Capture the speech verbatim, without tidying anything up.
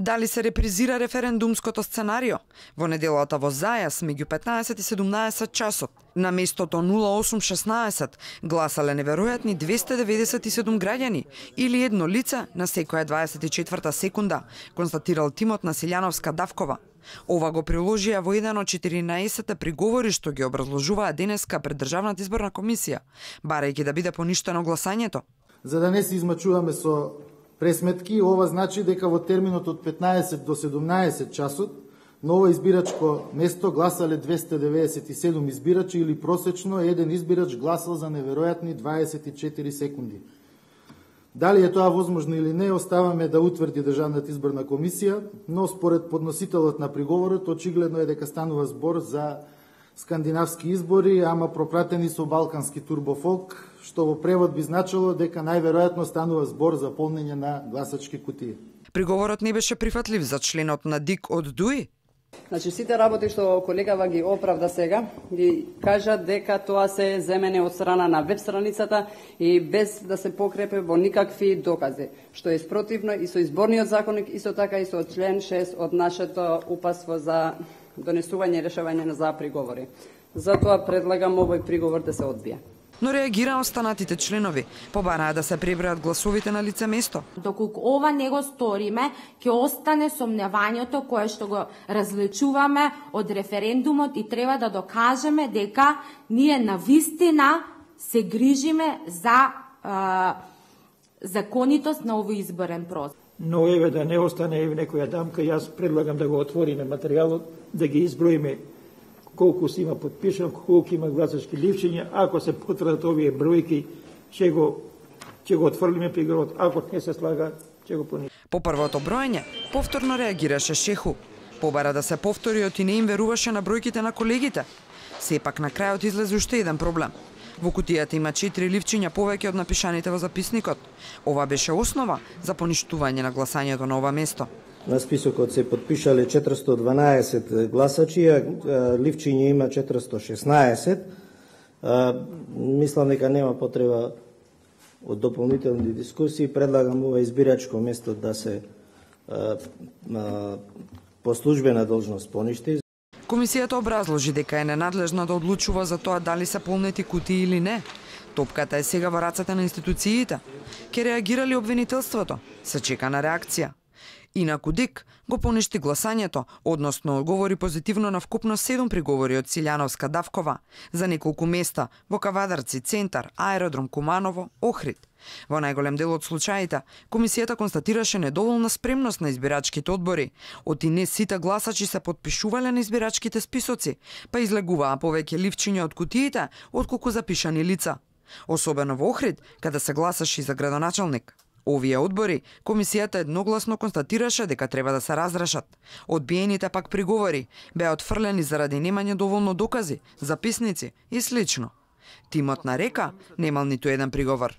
Дали се репризира референдумското сценарио? Во неделата во Зајас меѓу петнаесет и седумнаесет часот, на местото нула осум шеснаесет, гласале неверојатни двесте деветдесет и седум граѓани или едно лице на секоја дваесет и четврта секунда, констатирал тимот на Силјановска-Давкова. Ова го приложија во еден од четиринаесетте приговори што ги образложуваа денеска пред Државната изборна комисија, барајќи да биде поништено гласањето. За да не се измачуваме со пресметки, ова значи дека во терминот од петнаесет до седумнаесет часот на ова избирачко место гласале двесте деветдесет и седум избирачи или просечно еден избирач гласал за неверојатни дваесет и четири секунди. Дали е тоа возможно или не, оставаме да утврди Државната изборна комисија, но според подносителот на приговорот очигледно е дека станува збор за скандинавски избори, ама пропратени со балкански турбофолк, што во превод би значило дека најверојатно станува збор за полнење на гласачки кутии. Приговорот не беше прифатлив за членот на ДИК од ДУИ. Значи, сите работи што колегава ги оправда сега, ги кажат дека тоа се земене од страна на веб страницата и без да се покрепе во никакви докази, што е спротивно и со изборниот законник, исто така и со член шест од нашето упатство за донесување и решавање за приговори. Затоа предлагам овој приговор да се одбие. Но реагира останатите членови, побараа да се пребројат гласовите на лице место. Доколку ова не го сториме, ќе остане сомневањето кое што го различуваме од референдумот и треба да докажеме дека ние навистина се грижиме за а, законитост на овој изборен процес. Но еве да не остане еве некоја дамка, јас предлагам да го отвориме материјалот, да ги изброиме колку се има подпишано, колку има гласачки ливчиња. Ако се потврдат овие бројки, ќе го ќе го отфрлиме приговорот. Ако не се слага, ќе го понижиме. По првото броење, повторно реагираше Шеху. Побара да се повтори и не им веруваше на бројките на колегите. Сепак на крајот излезе уште еден проблем. Во кутијата има четири ливчиња повеќе од напишаните во записникот. Ова беше основа за поништување на гласањето на ова место. На списокот се подпишале четиристо дванаесет гласачи, а ливчиња има четиристо шеснаесет. Мислам дека нема потреба од дополнителни дискусии. Предлагам ова избирачко место да се по службена должност поништи. Комисијата образложи дека е ненадлежна да одлучува за тоа дали се полнети кутии или не. Топката е сега во рацете на институциите. Ке реагира ли обвинителството? Се чека на реакција. Инаку ДИК го поништи гласањето, односно одговори позитивно на вкупно седум приговори од Силјановска-Давкова за неколку места во Кавадарци, Центар, Аеродром Куманово, Охрид. Во најголем дел од случаите, комисијата констатираше недоволна спремност на избирачките одбори. Од и не сите гласачи се подпишувале на избирачките списоци, па излегуваа повеќе ливчиња од кутиите отколку запишани лица. Особено во Охрид, каде се гласаше за градоначалник. Овие одбори, комисијата едногласно констатираше дека треба да се разрешат. Одбиените пак приговори беа отфрлени заради немање доволно докази, записници и слично. Тимот на Река немал ниту еден приговор.